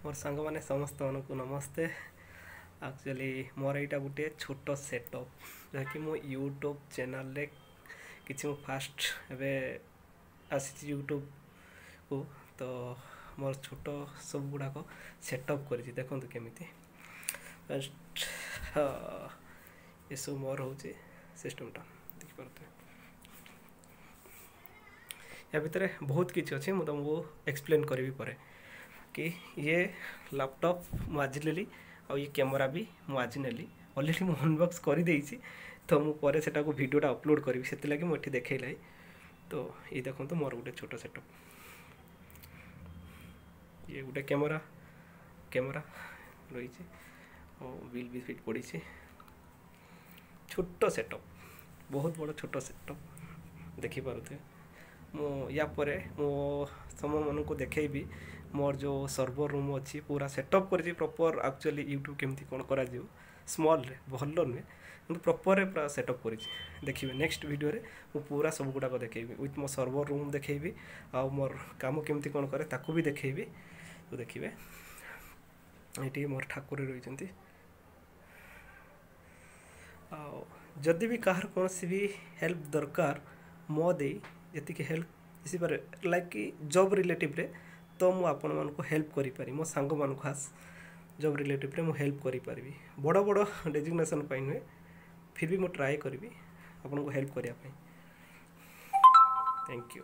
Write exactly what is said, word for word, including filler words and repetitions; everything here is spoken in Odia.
ମୋର ସାଙ୍ଗମାନେ ସମସ୍ତମାନଙ୍କୁ ନମସ୍ତେ। ଆକ୍ଚୁଆଲି ମୋର ଏଇଟା ଗୋଟିଏ ଛୋଟ ସେଟଅପ୍, ଯାହାକି ମୁଁ ୟୁଟ୍ୟୁବ୍ ଚ୍ୟାନେଲ୍ରେ କିଛି ମୁଁ ଫାଷ୍ଟ ଏବେ ଆସିଛି ୟୁଟ୍ୟୁବ୍କୁ, ତ ମୋର ଛୋଟ ସବୁ ଗୁଡ଼ାକ ସେଟଅପ୍ କରିଛି। ଦେଖନ୍ତୁ କେମିତି। ଫାଷ୍ଟ ଏସବୁ ମୋର ହେଉଛି ସିଷ୍ଟମ୍ଟା, ଦେଖିପାରୁଥିବେ। ୟା ଭିତରେ ବହୁତ କିଛି ଅଛି, ମୁଁ ତୁମକୁ ଏକ୍ସପ୍ଲେନ୍ କରିବି ପରେ କି ଇଏ ଲାପଟପ୍ ମୁଁ ଆଜି ନେଲି ଆଉ ଇଏ କ୍ୟାମେରା ବି ମୁଁ ଆଜି ନେଲି। ଅଲରେଡ଼ି ମୁଁ ଅନବକ୍ସ କରିଦେଇଛି, ତ ମୁଁ ପରେ ସେଟାକୁ ଭିଡ଼ିଓଟା ଅପଲୋଡ଼ କରିବି, ସେଥିଲାଗି ମୁଁ ଏଠି ଦେଖେଇଲି। ତ ଏଇ ଦେଖନ୍ତୁ ମୋର ଗୋଟେ ଛୋଟ ସେଟଅପ୍। ଇଏ ଗୋଟେ କ୍ୟାମେରା କ୍ୟାମେରା ରହିଛି ଆଉ ବିଲ୍ ବି ଫିଟ୍ ପଡ଼ିଛି। ଛୋଟ ସେଟଅପ୍, ବହୁତ ବଡ଼ ଛୋଟ ସେଟଅପ୍ ଦେଖିପାରୁଥିବେ। ମୁଁ ୟା ପରେ ମୁଁ ତୁମମାନଙ୍କୁ ଦେଖେଇବି ମୋର ଯେଉଁ ସର୍ଭର ରୁମ୍ ଅଛି, ପୁରା ସେଟଅପ୍ କରିଛି ପ୍ରପର୍। ଆକ୍ଚୁଆଲି ୟୁଟ୍ୟୁବ୍ କେମିତି କ'ଣ କରାଯିବ ସ୍ମଲ୍ରେ, ଭଲ ନୁହେଁ କିନ୍ତୁ ପ୍ରପର୍ରେ ପୁରା ସେଟଅପ୍ କରିଛି, ଦେଖିବେ। ନେକ୍ସଟ ଭିଡ଼ିଓରେ ମୁଁ ପୁରା ସବୁ ଗୁଡ଼ାକ ଦେଖେଇବି, ୱିଥ୍ ମୋ ସର୍ଭର ରୁମ୍ ଦେଖେଇବି ଆଉ ମୋର କାମ କେମିତି କ'ଣ କରେ ତାକୁ ବି ଦେଖେଇବି, ତ ଦେଖିବେ। ଏଇଠି ମୋର ଠାକୁର ରହିଛନ୍ତି। ଆଉ ଯଦି ବି କାହାର କୌଣସି ବି ହେଲ୍ପ ଦରକାର, ମୋ ଦେଇ ଯେତିକି ହେଲ୍ପ ଆସିପାରେ, ଲାଇକ୍ କି ଜବ୍ ରିଲେଟିଭ୍ରେ, ତ ମୁଁ ଆପଣମାନଙ୍କୁ ହେଲ୍ପ କରିପାରିବି। ମୋ ସାଙ୍ଗମାନଙ୍କୁ ଖାସ୍ ଜବ୍ ରିଲେଟିଭ୍ରେ ମୁଁ ହେଲ୍ପ କରିପାରିବି। ବଡ଼ ବଡ଼ ଡେଜିଗ୍ନେସନ୍ ପାଇଁ ନୁହେଁ, ଫିର୍ ବି ମୁଁ ଟ୍ରାଏ କରିବି ଆପଣଙ୍କୁ ହେଲ୍ପ କରିବା ପାଇଁ। Thank you.